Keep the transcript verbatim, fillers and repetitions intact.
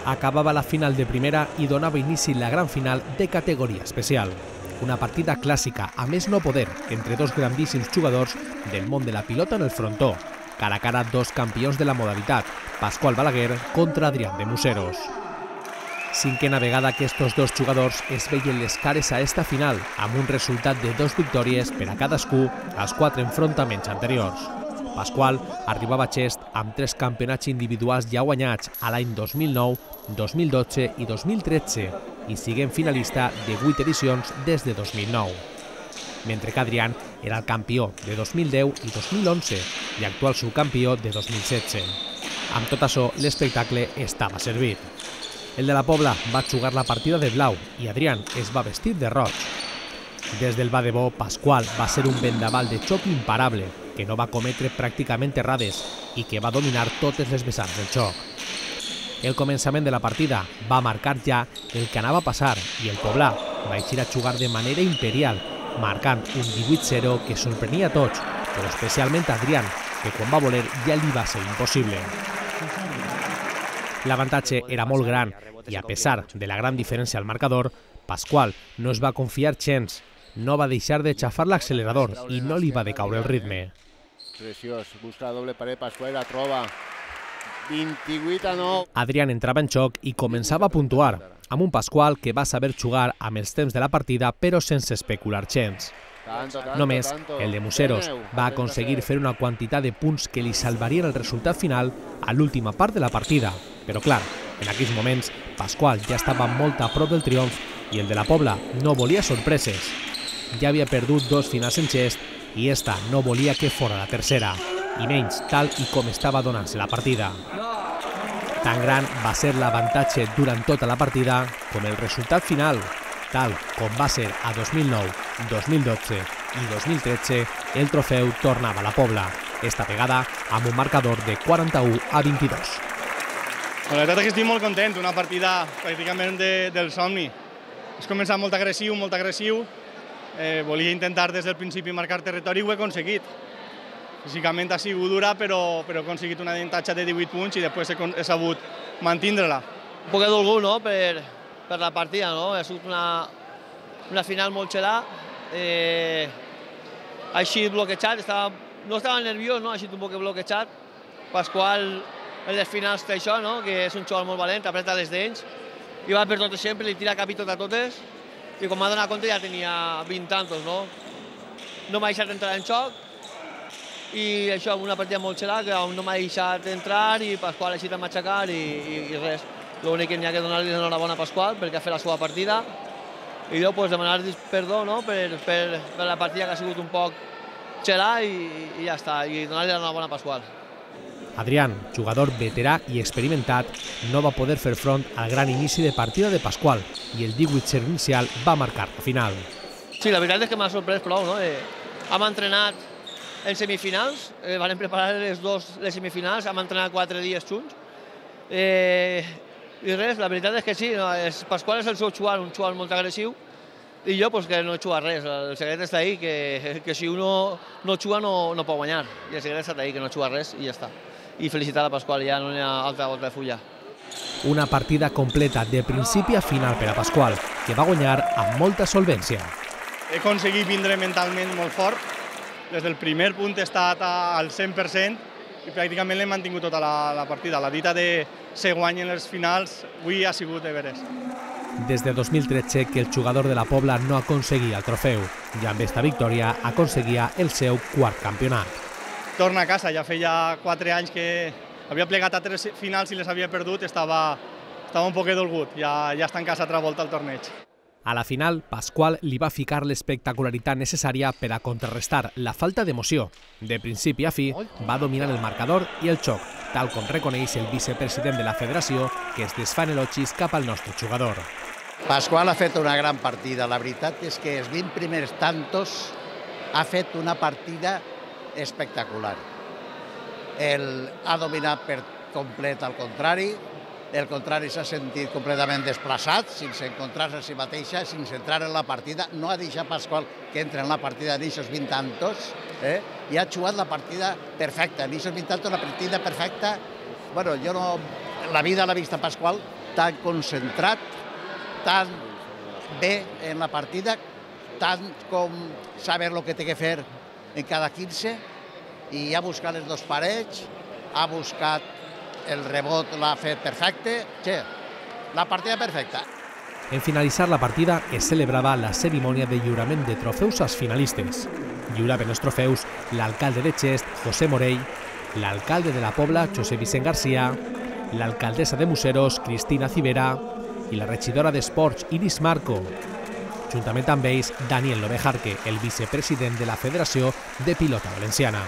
Acabava la final de primera i donava inici la gran final de categoria especial. Una partida clàssica, a més no poder, entre dos grandíssims jugadors del món de la pilota en el frontó. Cara a cara, dos campions de la modalitat, Pasqual Balaguer contra Adrián de Museros. Cinquena vegada que estos dos jugadors es veien les cares a esta final, amb un resultat de dos victòries per a cadascú als quatre enfrontaments anteriors. Pasqual arribava a Xest amb tres campionats individuals ja guanyats a l'any dos mil nou, dos mil dotze i dos mil tretze i siguent finalista de vuit edicions des de dos mil nou. Mentre que Adrián era el campió de dos mil deu i dos mil onze i actual subcampió de dos mil setze. Amb tot això, l'espectacle estava servit. El de la Pobla va jugar la partida de blau i Adrián es va vestir de roig. Des del va de bo, Pasqual va ser un vendaval de xoc imparable, que no va cometre pràcticament errades i que va dominar totes les vessants del xoc. El començament de la partida va marcar ja el que anava a passar i el Poblà va eixir a jugar de manera imperial, marcant un divuit zero que sorprenia a tots, però especialment a Adrián, que quan va voler ja li va ser impossible. L'avantatge era molt gran i a pesar de la gran diferència al marcador, Pasqual no es va confiar gens, no va deixar de xafar l'accelerador i no li va decaure el ritme. Preciós, busca la doble paret, Pasqual la troba. vint-i-vuit a nou. Adrián entrava en xoc i començava a puntuar, amb un Pasqual que va saber jugar amb els temps de la partida però sense especular gens. Només el de Museros va aconseguir fer una quantitat de punts que li salvarien el resultat final a l'última part de la partida. Però clar, en aquells moments Pasqual ja estava molt a prop del triomf i el de la Pobla no volia sorpreses. Ja havia perdut dos finals en Xest i esta no volia que fora la tercera, i menys tal i com estava donant-se la partida. Tan gran va ser l'avantatge durant tota la partida com el resultat final, tal com va ser a dos mil nou, dos mil dotze i dos mil tretze, el trofeu tornava a la Pobla, esta vegada amb un marcador de quaranta-u a vint-i-dos. La veritat és que estic molt content, una partida pràcticament de, del somni. Has començat molt agressiu, molt agressiu. Eh, volia intentar des del principi marcar territori i ho he aconseguit. Físicament ha sigut dura, però, però he aconseguit un avantatge de divuit punts i després he, he sabut mantindre-la. Un poc dolgut, no?, per, per la partida, no? Ha sigut una, una final molt xerà. Eh, ha sigut bloquejat, estava, no estava nerviós, no? Ha sigut un poc bloquejat. Pasqual, en les finals té això, no?, que és un xaval molt valent, apreta les dents, i va per totes sempre, li tira cap i tot a totes, i quan m'ha donat compte ja tenia vint tantos, no? No m'ha deixat entrar en xoc, i això, una partida molt xerà, que no m'ha deixat entrar, i Pasqual ha eixit a matxacar, i, i, i res. L'únic que n'hi ha que donar-li l'enhorabona a Pasqual, perquè ha fet la seva partida, i jo pues, demanar perdó, no?, per, per, per la partida que ha sigut un poc xerà, i, i ja està, i donar-li l'enhorabona a Pasqual. Adrián, jugador veterà i experimentat, no va poder fer front al gran inici de partida de Pasqual i el divuit zero inicial va marcar la final. Sí, la veritat és que m'ha sorprès prou, no? Eh, hem entrenat en semifinals, eh, vam preparar les dues les semifinals, hem entrenat quatre dies junts. Eh, I res, la veritat és que sí, no? Es, Pasqual és el seu xual, un xual molt agressiu, i jo pues, que no he xugat res. El secret està ahí, que, que si uno no xua no, no pot guanyar. I el secret està ahí, que no xuga res i ja està. I felicitar a Pasqual, ja no hi ha altra volta de fulla. Una partida completa de principi a final per a Pasqual, que va guanyar amb molta solvència. He aconseguit vindre mentalment molt fort. Des del primer punt he estat al cent per cent i pràcticament l'he mantingut tota la, la partida. La dita de se guanyen les finals avui ha sigut de veres. Des de dos mil tretze que el jugador de la Pobla no aconseguia el trofeu i amb esta victòria aconseguia el seu quart campionat. Torna a casa, ja feia quatre anys que havia plegat a tres finals i les havia perdut, estava, estava un poc dolgut, ja, ja està en casa altra volta al torneig. A la final, Pasqual li va ficar l'espectacularitat necessària per a contrarrestar la falta d'emoció. De principi a fi, va dominar el marcador i el xoc, tal com reconeix el vicepresident de la federació, que es desfà en elogis cap al nostre jugador. Pasqual ha fet una gran partida. La veritat és que els vint primers tantos ha fet una partida espectacular. El ha dominat per complet al contrari, el contrari s'ha sentit completament desplaçat, sense encontrar-se a si mateixa, sense entrar en la partida. No ha deixat Pasqual que entre en la partida en aquests vint tantos, eh? I ha jugat la partida perfecta. En aquests vint tantos, la partida perfecta. Bueno, jo no... La vida l'ha vist a Pasqual tan concentrat, tan bé en la partida, tant com saber el que té que fer en cada quinze, i ha buscat les dos parells, ha buscat el rebot, l'ha fet perfecte, sí, la partida perfecta. En finalitzar la partida es celebrava la cerimònia de lliurament de trofeus als finalistes. Lliuraven els trofeus l'alcalde de Xest, José Morell, l'alcalde de la Pobla, José Vicent García, l'alcaldessa de Museros, Cristina Civera, i la regidora d'Esports, Iris Marco. Juntament amb ells, Daniel Lobejarque, el vicepresident de la Federació de Pilota Valenciana.